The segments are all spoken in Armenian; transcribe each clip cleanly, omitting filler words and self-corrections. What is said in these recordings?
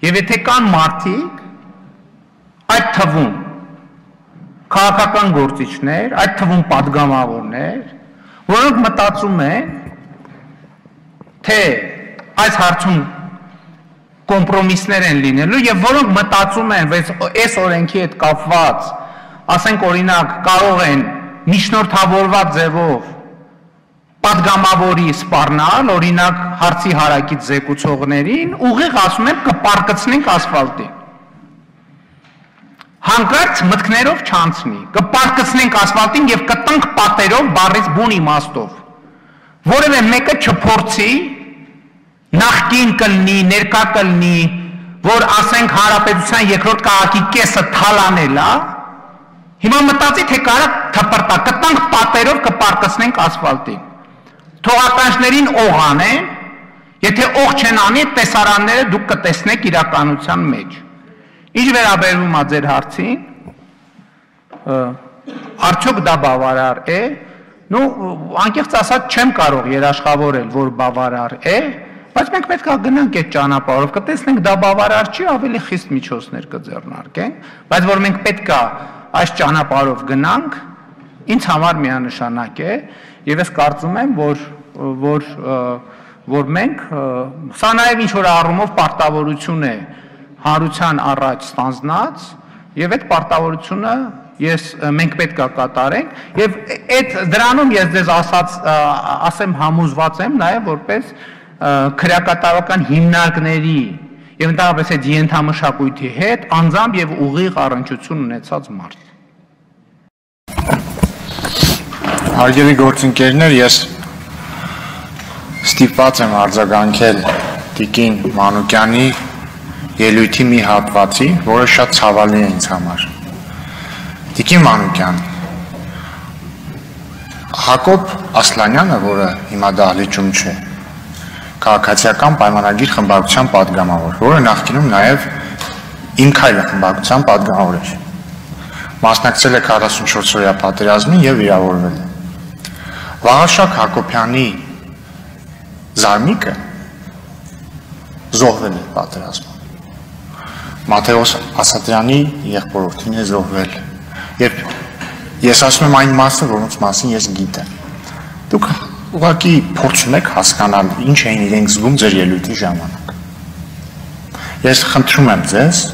Եվ եթե կան մարդիկ, այդ թվում քաղաքական գործիչներ, այդ թվում падգամավորներ, որոնք մտածում են, թե այս հարցում կոմպրոմիսներ են լինելու եւ որոնք մտածում են, որ այս օրենքի հետ կապված, ասենք օրինակ, կարող են միջնորդավորված ձևով падգամավորի սպառնալ, օրինակ հարցի հարակից զեկուցողներին, ուղիղ ասում են կպարկծնենք ասֆալտին։ Հանկարծ մտքներով չանցնի, կպարկծնենք ասֆալտին եւ կտանք պատերով բառից բուն իմաստով։ Որևէ մեկը չփորձի նախկին կլինի, ներկա կլինի, որ ասենք հանրապետության երկրորդ քաղաքի կեսը թալանել է, հիմա մտածի թե կարա թպրտա, կտանք պատերով կպարկծնենք ասֆալտին։ Թողականջներին օղ անեն, եթե օղ չեն անի, տեսարանները դուք կտեսնեք իրականության մեջ։ Ինչ վերաբերվում է ձեր հարցին, արդյոք դա բավարար է, անկեղծ ասած չեմ կարող երաշխավորել, որ բավարար է, բայց մենք պետք է գնանք այդ ճանապարհով, կտեսնենք դա բավարար չի, ավելի խիստ միջոցներ կձեռնարկենք, բայց որ մենք պետք է այս ճանապարհով գնանք, ինձ համար միանշանակ է, եւ ես կարծում եմ, որ մենք սա նաեւ ինչ որ առումով պարտավորություն է հանրության առաջ ստանձնած եւ այդ պարտավորությունը մենք պետք է կատարենք եւ այդ դրանում ես ձեզ ասեմ համոզված եմ նաեւ որպես քրեակատարական հիմնարկների եւ ընդհանրապես այդ ենթամշակույթի հետ անձամբ եւ ուղիղ առնչություն ունեցած մարդ։ Հարգելի գործընկերներ, ես ստիպված եմ արձագանքել Տիկին Մանուկյանի ելույթի մի հատվածի, որը շատ ցավալի է ինձ համար։ Տիկին Մանուկյան, Հակոբ Ասլանյանը, որը հիմա դահլիճում չէ, քաղաքացիական պայմանագիր խմբակցության падգամավոր, որը նախկինում նաև Իմ քայլը խմբակցության падգամավոր էր։ Մասնակցել է 44-օրյա պատերազմին եւ վիրավորվել է։ Վաղարշակ Հակոբյանի զարմիկը զոհվել է պատերազմում։ Մաթեոս Ասատրյանի եղբորորդին է զոհվել։ Եվ ես ասում եմ այն մասը, որոնց մասին ես գիտեմ։ Դուք ուղղակի փորձում եք հասկանալ ինչ էին իրենք զգում ձեր ելույթի ժամանակ։ Ես խնդրում եմ ձեզ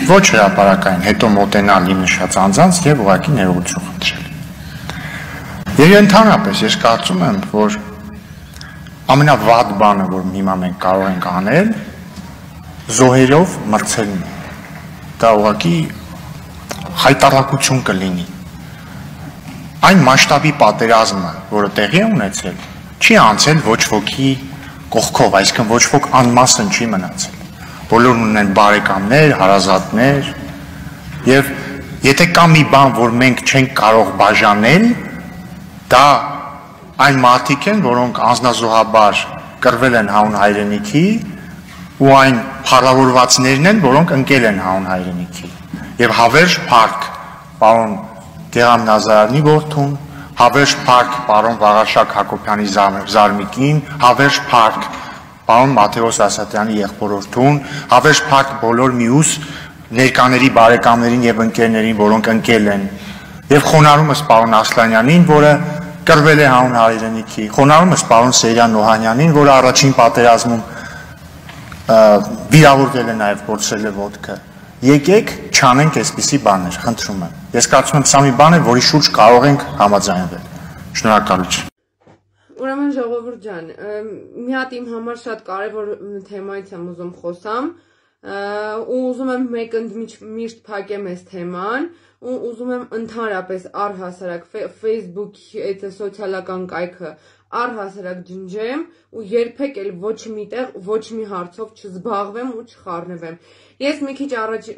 ոչ հրապարակային հետո մոտենալ իմ նշած անձանց եւ ուղղակի ներողություն խնդրել։ Եվ ընդհանրապես ես կարծում եմ, որ ամենավատ բանը, որ հիմա մենք կարող ենք անել, զոհերով մրցելն է։ Դա ուղղակի խայտառակություն կլինի։ Այն մասշտաբի պատերազմը, որը տեղի է ունեցել, չի անցել ոչ ոքի կողքով, այսինքն ոչ ոք անմասն չի մնացել։ Բոլորն ունեն բարեկամներ, հարազատներ, եւ եթե կա մի բան, որ մենք չենք կարող բաժանել, դա այն մարդիկ են, որոնք անձնազոհաբար կռվել են հանուն հայրենիքի, ու այն փառավորվածներն են, որոնք ընկել են հանուն հայրենիքի։ Եվ հավերժ փառք պարոն Գեղամ Նազարյանի որդուն, հավերժ փառք պարոն Վաղարշակ Հակոբյանի զարմիկին, հավերժ փառք պարոն Մաթեոս Ասատրյանի եղբորորդուն, հավերժ փառք բոլոր մյուս ներկաների բարեկամներին եւ ընկերներին, որոնք ընկել են, եւ խոնարհումս պարոն Ասլանյանին, որը կռվել է հանուն հայրենիքի, խոնարհումս պարոն Սեյրան Նոհանյանին, որը առաջին պատերազմում վիրավորվել է նաեւ կորցրել է ոտքը։ Եկեք չանենք այսպիսի բաներ, խնդրում եմ։ Ես կարծում եմ սա մի բան է, որի շուրջ կարող ենք համաձայնվել։ Շնորհակալություն։ Ուրեմն ժողովուրդ ջան, մի հատ իմ համար շատ կարևոր թեմայից եմ ուզում խոսամ, ու ուզում եմ մեկ ընդմիշտ փակեմ այս թեման, ու ուզում եմ ընդհանրապես առհասարակ Facebook-ի այդ սոցիալական կայքը առհասարակ ջնջեմ ու երբեք էլ ոչ միտեղ ոչ մի հարցով չզբաղվեմ ու չխառնվեմ։ Ես մի քիչ առաջ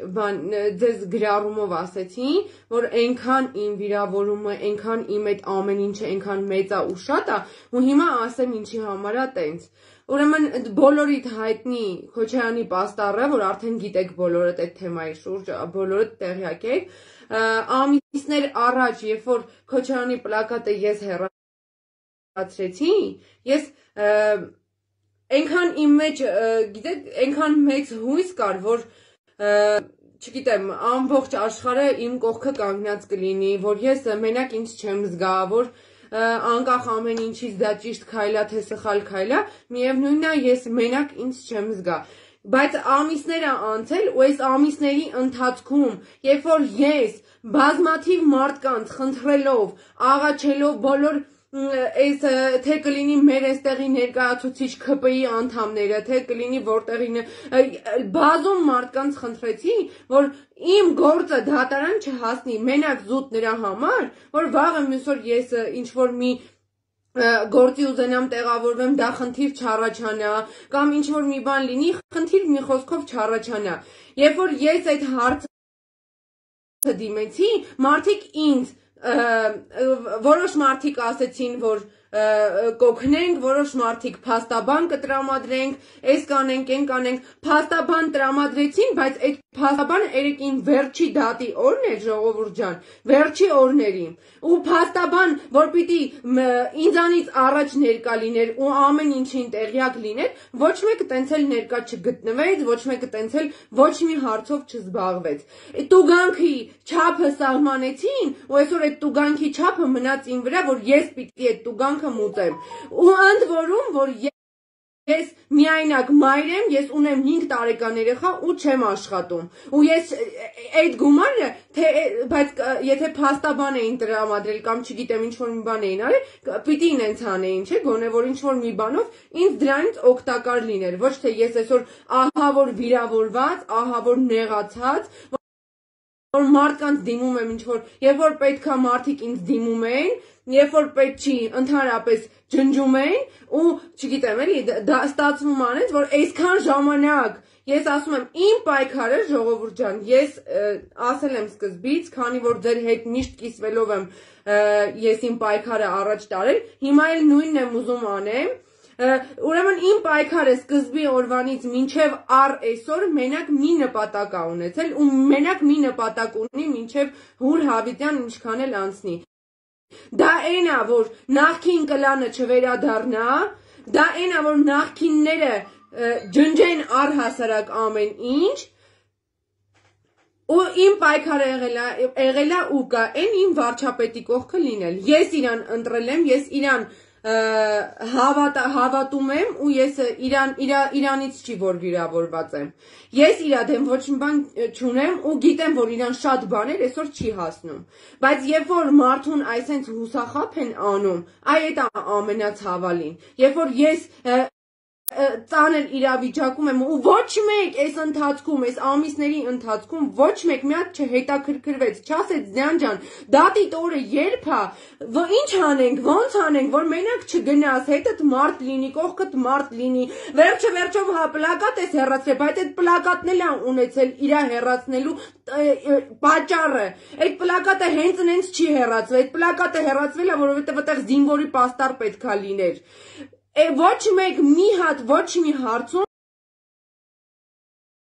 ձեզ գրառումով ասեցի, որ այնքան իմ վիրավորումը, այնքան իմ այդ ամեն ինչը այնքան մեծ է ու շատ է, ու հիմա ասեմ ինչի համար է տենց։ Ուրեմն բոլորիդ հայտնի Քոչարյանի պաստառը, որ արդեն գիտեք բոլորդ այդ թեմայի շուրջ, բոլորդ տեղյակ եք, ամիսներ առաջ, երբ որ Քոչարյանի պլակատը ես հեռացրեցի, ես այնքան իմ մեջ, գիտեք, այնքան մեծ հույս կար, որ չգիտեմ, ամբողջ աշխարհը իմ կողքը կանգնած կլինի, որ ես մենակ ինձ չեմ զգա, որ անկախ ամեն ինչից դա ճիշտ քայլ է, թե սխալ քայլ է, միևնույնն է, ես մենակ ինձ չեմ զգա։ Բայց ամիսներ է անցել ու այս ամիսների ընթացքում, երբ որ ես բազմաթիվ մարդկանց խնդրելով, աղաչելով բոլոր այս թե կլինի մեր այստեղի ներկայացուցիչ ՔՊ-ի անդամները, թե կլինի որտեղի բազում մարդկանց խնդրեցի, որ իմ գործը դատարան չհասնի մենակ զուտ նրա համար, որ վաղը մյուս օր ես ինչ որ մի գործի ուզենամ տեղավորվեմ, դա խնդիր չառաջանա, կամ ինչ որ մի բան լինի, խնդիր մի խոսքով չառաջանա։ Երբ որ ես այդ հարցը դիմեցի, մարդիկ ինձ որոշ մարդիկ ասեցին, որ կօգնենք, որոշ մարդիկ փաստաբան կտրամադրենք, այս կանենք, այն կանենք, փաստաբան տրամադրեցին, բայց այդ փաստաբանը երեկին վերջի դատի օրն էր, ժողովուրդ ջան, վերջի օրների։ Ու փաստաբան, որ պիտի ինձանից առաջ ներկա լիներ ու ամեն ինչին տեղյակ լիներ, ոչ մեկը տենց էլ ներկա չգտնվեց, ոչ մեկը տենց էլ ոչ մի հարցով չզբաղվեց։ Տուգանքի չափը սահմանեցին, ու այսօր այդ տուգանքի չափը մնաց իմ վրա, որ ես պիտի այդ տուգանքը մուծեմ։ Ու ընդ որում, որ ես միայնակ մայր եմ, ես ունեմ 5 տարեկան երեխա ու չեմ աշխատում։ Ու ես այդ գումարը, բայց եթե փաստաբան էին տրամադրել կամ չգիտեմ ինչ որ մի բան էին արել, պիտի ինձ անեին, չէ՞, գոնե որ ինչ որ մի բանով ինձ դրանից օգտակար լիներ։ Ոչ թե ես այսօր ահա որ վիրավորված, ահա որ նեղացած, որ մարդկանց դիմում եմ ինչ որ, երբ որ պետքա մարդիկ ինձ դիմում էին, երբ որ պետք չի, ընդհանրապես ջնջում էին ու չգիտեմ էլի, դա ստացվում անեց, որ այսքան ժամանակ ես ասում եմ իմ պայքարը, ժողովուրդ ջան, ես ասել եմ սկզբից, քանի որ ձեր հետ միշտ կիսվելով եմ ես իմ պայքարը առաջ տարել, հիմա էլ նույնն եմ ուզում անեմ։ Ուրեմն իմ պայքարը սկզբի օրվանից մինչև առ այսօր մենակ մի նպատակ է ունեցել ու մենակ մի նպատակ ունի մինչև Հուր Հավիտյան ինչքան էլ անցնի։ Դա այն է, որ նախքին կլանը չվերադառնա, դա այն է, որ նախքինները ջնջեն առհասարակ ամեն ինչ, ու իմ պայքարը եղել է ու կա այն իմ վարչապետի կողքը լինել։ Ես իրան ընտրել եմ, ես իրան հավատում եմ ու ես իրանից չի որ վիրավորված եմ։ Ես իրա դեմ ոչ մի բան չունեմ ու գիտեմ, որ իրան շատ բաներ այսօր չի հասնում։ Բայց երբ որ մարդուն այսենց հուսախաբ են անում, այդ է ամենացավալին։ Երբ որ ես ծանր իրավիճակում եմ ու ոչ մեկ այս ընթացքում, այս ամիսների ընթացքում ոչ մեկ մի հատ չհետաքրքրվեց, չասեց Ձյան ջան, դատիդ օրը երբ է, ինչ անենք, ոնց անենք, որ մենակ չգնաս, հետդ մարդ լինի, կողքդ մարդ լինի, վերջով հա պլակատ ես հեռացրել, բայց այդ պլակատն էլ ունեցել իրա հեռացնելու պատճառը, այդ պլակատը հենց չի հեռացվել, այդ պլակատը հեռացվել է, որովհետև այդտեղ զինվորի պաստառ պետքա լիներ։ Ոչ մեկ մի հատ ոչ մի հարցում